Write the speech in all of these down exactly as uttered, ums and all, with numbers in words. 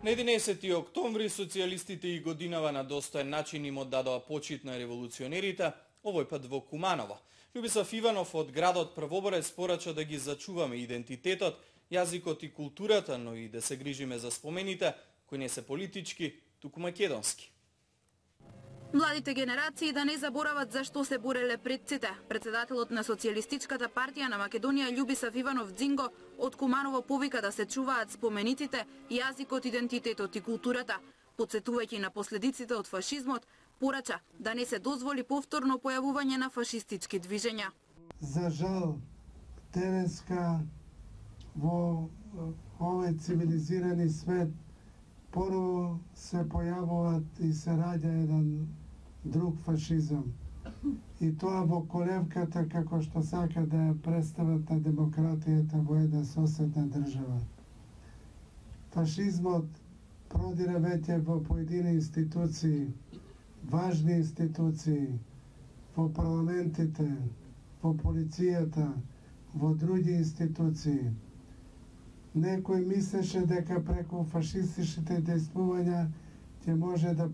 На единаесети октомври социјалистите и годинава на достоен начин им оддадоа почит на револуционерите, овој пат во Куманово. Љубисав Иванов од градот Првоборец порача да ги зачуваме идентитетот, јазикот и културата, но и да се грижиме за спомените, кои не се политички, туку македонски. Младите генерации да не заборават зашто се бореле предците. Председателот на Социјалистичката партија на Македонија Љубисав Иванов Дзинго од Куманово повика да се чуваат спомениците, јазикот, идентитетот и културата. Подсетувајќи на последиците од фашизмот, порача да не се дозволи повторно појавување на фашистички движења. За жал, денеска во овој цивилизирани свет поново се појавуваат и се раѓа еден друг фашизам. И тоа во колевката како што сака да ја представат на демократијата во една соседна држава. Фашизмот продира веќе во поедини институции, важни институции, во парламентите, во полицијата, во други институции. Некој мислеше дека преку фашистичките дејствувања ќе може да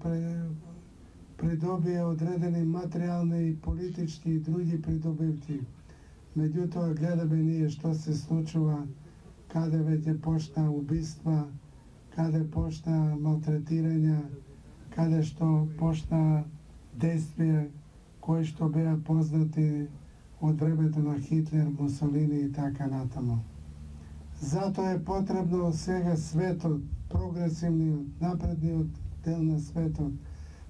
придобие одредени материјални и политички и други придобивки. Меѓутоа гледаме ние што се случува, каде веќе почна убиства, каде почна малтретирања, каде што почна действија кои што беа познати од времето на Хитлер, Мусолини и така натаму. Затоа е потребно сега светот, прогресивниот, напредниот дел на светот,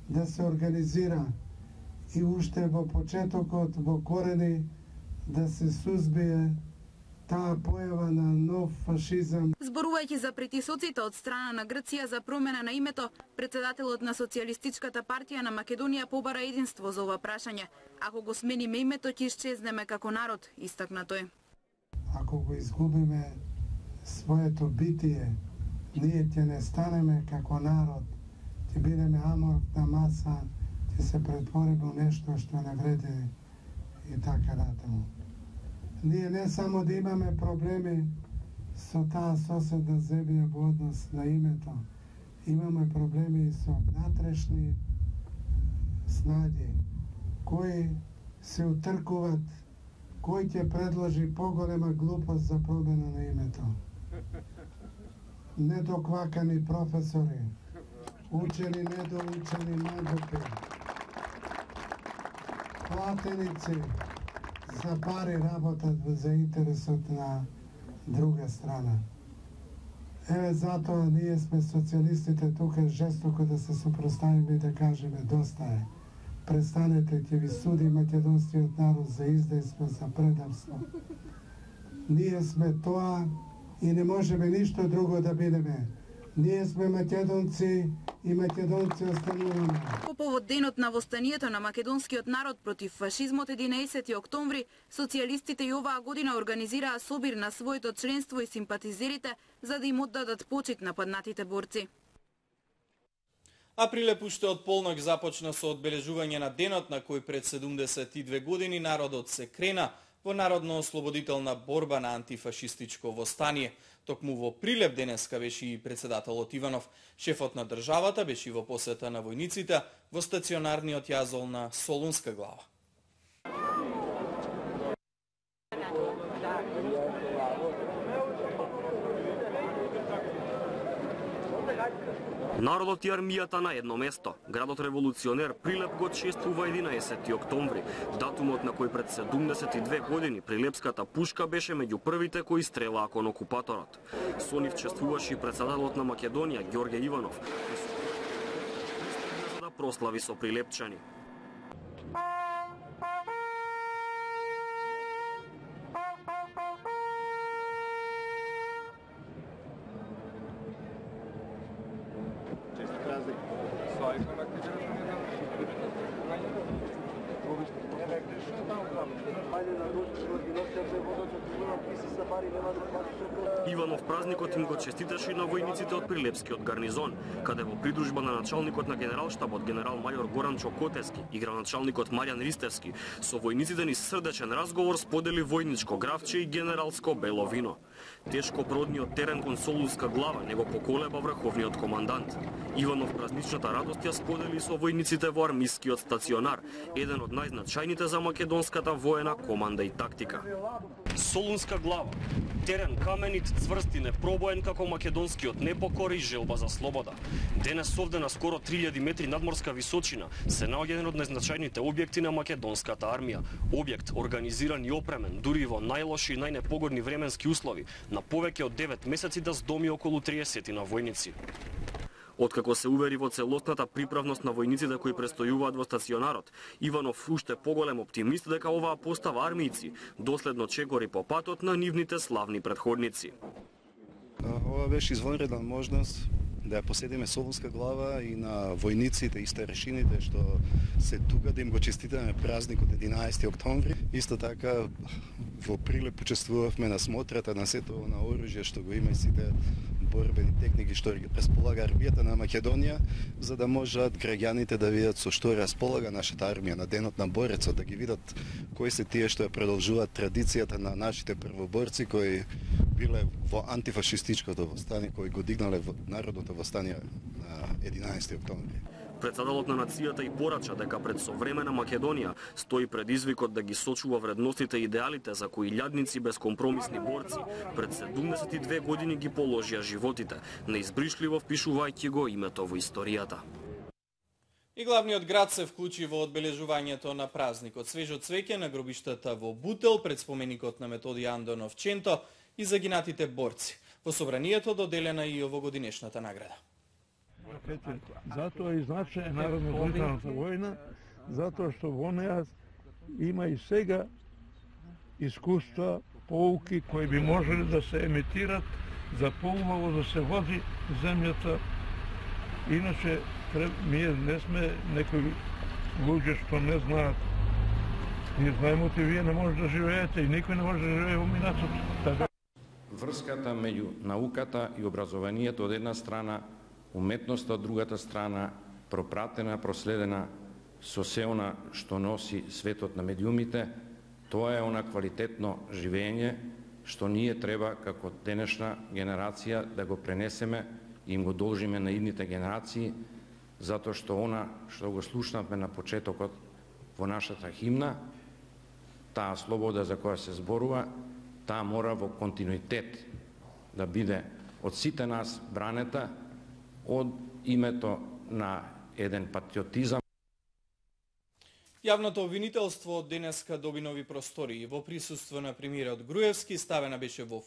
да се организира и уште во почетокот, во корени, да се сузбие таа појава на нов фашизам. Зборувајќи за притисоците од страна на Грција за промена на името, председателот на Социјалистичката партија на Македонија побара единство за ова прашање. Ако го смениме името, ќе исчезнеме како народ, истакна тој. Ако го изгубиме своето битие, ние ќе не станеме како народ, ќе бидеме аморфна маса, ќе се претвориме во нешто што не вреди и така натаму. Ние не само да имаме проблеми со таа соседна земја во однос на името, имаме проблеми и со внатрешни снаги, кои се утркуват, кој ќе предложи поголема глупост за промена на името. Недоквакани професори, учени, недоучени наглупи, платеници за пари работат за интересот на друга страна. Еве затоа ние сме социјалистите тука жестоко да се супроставиме и да кажеме доста е. Престанете, ќе ви суди македонскиот народ за издејство, за предавство. Ние сме тоа и не можеме ништо друго да бидеме. Ние сме македонци и македонци остануваме. По повод денот на востанието на македонскиот народ против фашизмот единаесети октомври, социјалистите и оваа година организираа собир на своето членство и симпатизерите за да им оддадат почит на паднатите борци. А прилеп уште од полнок започна со одбележување на денот на кој пред седумдесет и две години народот се крена во народно-ослободителна борба на антифашистичко востание. Токму во Прилеп денеска беше и председателот Иванов. Шефот на државата беше во посета на војниците во стационарниот јазол на Солунска глава. Народот и армијата на едно место. Градот револуционер Прилеп го чествува единаесети октомври, датумот на кој пред седумдесет и две години прилепската пушка беше меѓу првите кои стрелаа кон окупаторот. Со нив чествуваше и председателот на Македонија Ѓорѓе Иванов, за да прослави со прилепчани. Иванов празникот им го честиташе и на војниците од Прилепскиот гарнизон, каде во придружба на началникот на генералштабот генерал-мајор Горан Чокотевски и граначалникот Маријан Ристевски со војниците ни срдечен разговор сподели војничко гравче и генералско бело вино. Тешкопродниот терен кон Солунска глава не го поколеба врховниот командант. Иванов празничната радост ја сподели со војниците во армискиот стационар, еден од најзначајните за македонската воена команда и тактика. Солунска глава, терен каменит, цврст и непробоен како македонскиот непокор и желба за слобода. Денес овде на скоро три илјади метри надморска височина се наоѓа еден од најзначајните објекти на македонската армија. Објект организиран и опремен, дури во најлоши и најнепогодни временски услови, на повеќе од девет месеци да здоми околу триесет на војници. Откако се увери во целосната приправност на војниците кои престојуваат во стационарот, Иванов уште поголем оптимист дека оваа постава армијци доследно чекори по патот на нивните славни претходници. Ова беше извонредна можност да ја поседиме Солунска глава и на војниците и старешините што се тука, да им го честитаме празникот единаесети октомври. Исто така во Прилеп учествувавме на смотрата на сето на оружје што го има и сите борбени техники што ги располага армијата на Македонија, за да можат граѓаните да видат со што располага нашата армија на денот на борецот, да ги видат кои се тие што ја продолжуваат традицијата на нашите првоборци кои биле во антифашистичкото востание, кои го дигнале народното востание на единаесети октомври. Председателот на нацијата и порача дека пред современа Македонија стои предизвикот да ги сочува вредностите и идеалите за кои илјадници безкомпромисни борци пред седумдесет и две години ги положија животите, неизбришливо впишувајќи го името во историјата. И главниот град се вклучи во одбележувањето на празникот. Свежо цвеќе на гробиштата во Бутел пред споменикот на Методи Андонов Ченто и загинатите борци. Во собранието доделена и овогодинешната награда. Затоа и значај народно-одбранителната војна, затоа што во неа има и сега искуства, поуки кои би можеле да се емитират за поубаво да се води земјата. Иначе ние не сме некои луѓе што не знаат. Ние знаеме че вие не може да живеете и никој не може да живее во минатото. Така врската меѓу науката и образованието од една страна, уметноста од другата страна, пропратена, проследена со се она што носи светот на медиумите, тоа е она квалитетно живење што ние треба како денешна генерација да го пренесеме и им го должиме на идните генерации, затоа што она што го слушнавме на почетокот во нашата химна, таа слобода за која се зборува, таа мора во континуитет да биде од сите нас бранета од името на еден патриотизам. Јавното обвинителство денеска доби нови простори. Во присуство на премиерот Груевски ставена беше во